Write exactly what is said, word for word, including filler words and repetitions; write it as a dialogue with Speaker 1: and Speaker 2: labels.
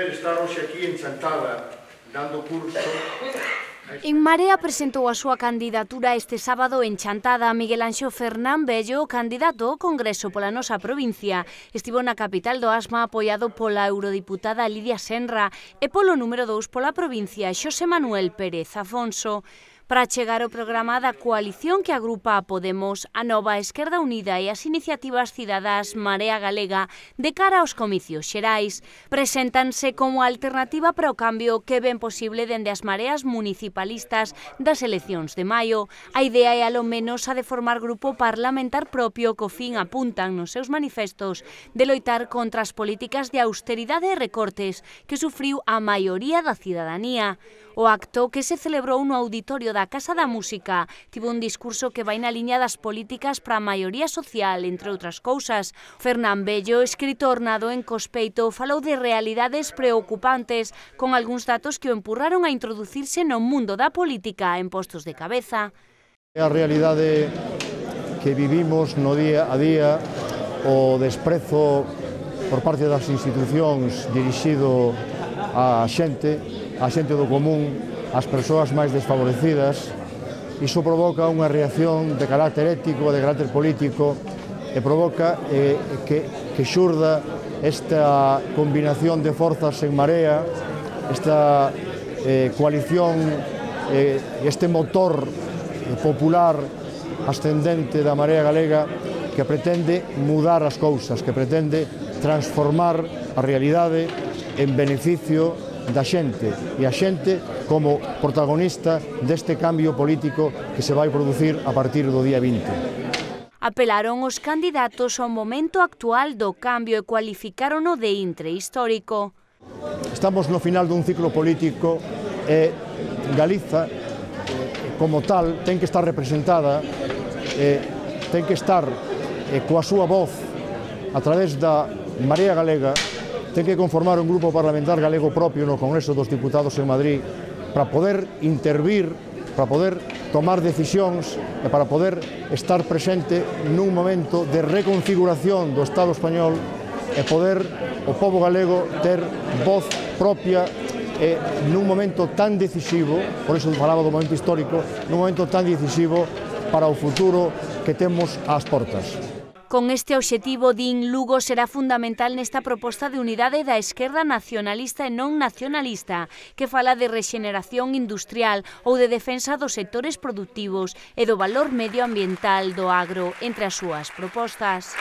Speaker 1: prazer estar hoxe aquí en Chantada, dando curso.
Speaker 2: En Marea presentou a súa candidatura este sábado en Chantada. Miguel Anxo Fernán Bello, candidato ao Congreso pola nosa provincia, estivo na capital do Asma apoiado pola eurodiputada Lidia Senra e polo número dous pola provincia, Xosé Manuel Pérez Afonso. Para chegar ao programa da coalición que agrupa a Podemos, a Nova Esquerda Unida e as iniciativas cidadás Marea Galega de cara aos comicios xerais, preséntanse como alternativa para o cambio que ven posible dende as mareas municipalistas das eleccións de maio. A idea é alo menos a de formar grupo parlamentar propio co fin, apuntan nos seus manifestos, de loitar contra as políticas de austeridade e recortes que sufriu a maioría da cidadanía. O acto, que se celebrou no auditorio da Casa da Música, tivo un discurso que vai na liña das políticas para a maioría social, entre outras cousas. Fernán Bello, escritor nado en Cospeito, falou de realidades preocupantes, con algúns datos que o empurraron a introducirse no mundo da política en postos de cabeza.
Speaker 3: A realidade que vivimos no día a día, o desprezo por parte das institucións dirixido á xente, a xente do común, as persoas máis desfavorecidas. Iso provoca unha reacción de carácter ético, de carácter político, e provoca eh, que, que xurda esta combinación de forzas en Marea, esta eh, coalición, eh, este motor eh, popular ascendente da Marea Galega que pretende mudar as cousas, que pretende transformar a realidade en beneficio da xente, e a xente como protagonista deste cambio político que se vai producir a partir do día vinte.
Speaker 2: Apelaron os candidatos ao momento actual do cambio e cualificárono de intre histórico.
Speaker 3: Estamos no final dun ciclo político e Galiza, como tal, ten que estar representada, e ten que estar coa súa voz a través da Marea Galega, ten que conformar un grupo parlamentar galego propio no Congreso dos Diputados en Madrid para poder intervir, para poder tomar decisións e para poder estar presente nun momento de reconfiguración do Estado español e poder o pobo galego ter voz propia e nun momento tan decisivo, por iso falaba do momento histórico, nun momento tan decisivo para o futuro que temos ás portas.
Speaker 2: Con este obxectivo, din, Lugo será fundamental nesta proposta de unidade da esquerda nacionalista e non nacionalista, que fala de rexeneración industrial ou de defensa dos sectores productivos e do valor medioambiental do agro entre as súas propostas.